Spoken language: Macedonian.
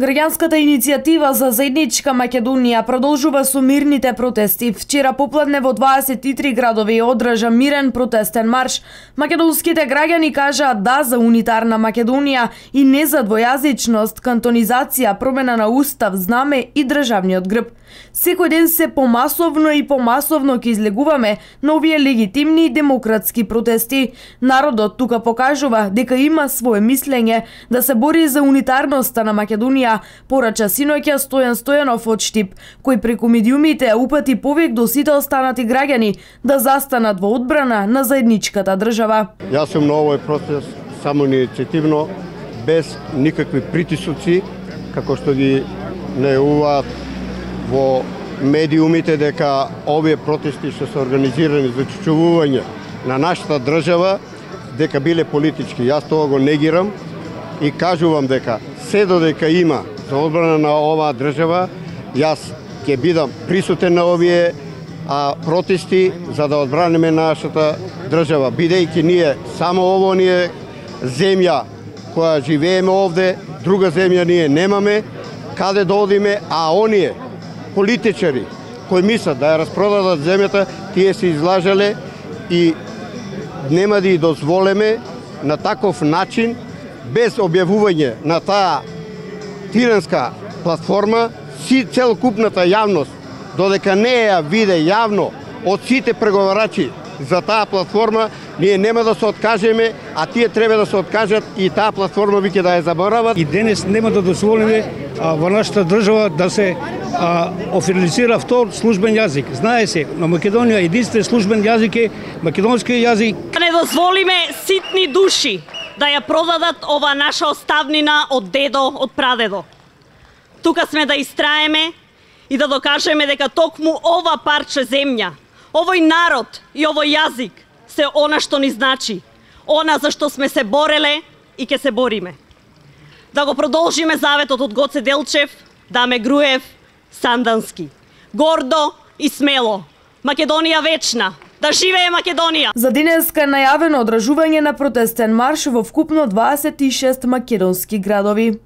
Граѓанската иницијатива за заедничка Македонија продолжува со мирните протести. Вчера попладне во 23 градови одржа мирен протестен марш. Македонските граѓани кажаат да за унитарна Македонија и не за двојазичност, кантонизација, промена на устав, знаме и државниот грб. Секој ден се помасовно ќе излегуваме на овие легитимни и демократски протести. Народот тука покажува дека има свое мислење да се бори за унитарноста на Македонија, порача синоќа Стојан Стојанов од Штип, кој преку медиумите упати повик до сите останати граѓани да застанат во одбрана на заедничката држава. Јас сум на овој протест само иницијативно, без никакви притисоци, како што ги најавуваат во медиумите дека овие протести што се организирани за чувствување на нашата држава, дека биле политички. Јас тоа го негирам и кажувам дека се додека има за одбрана на оваа држава, јас ќе бидам присутен на овие протести за да одбраниме нашата држава, бидејќи ние само ово ни е земја која живееме овде, друга земја ние немаме каде да одиме, а оние политичари кои мислат да ја распродадат земјата, тие се излажале и нема да ја дозволиме на таков начин, без објавување на таа тиранска платформа, целокупната јавност, додека не ја виде јавно од сите преговарачи за таа платформа, ние нема да се откажеме, а тие треба да се откажат и таа платформа веќе да ја заборават. И денес нема да дозволиме во нашата држава да се официализира втор службен јазик. Знае се, на Македонија единствен службен јазик е македонски јазик. Не дозволиме ситни души да ја продадат ова наша оставнина од дедо, од прадедо. Тука сме да истраеме и да докажеме дека токму ова парче земја, овој народ и овој јазик се она што ни значи, она за што сме се бореле и ќе се бориме. Да го продолжиме заветот од Гоце Делчев, Даме Груев, Сандански. Гордо и смело. Македонија вечна. Да живее Македонија! За денеска е најавено одржување на протестен марш во вкупно 26 македонски градови.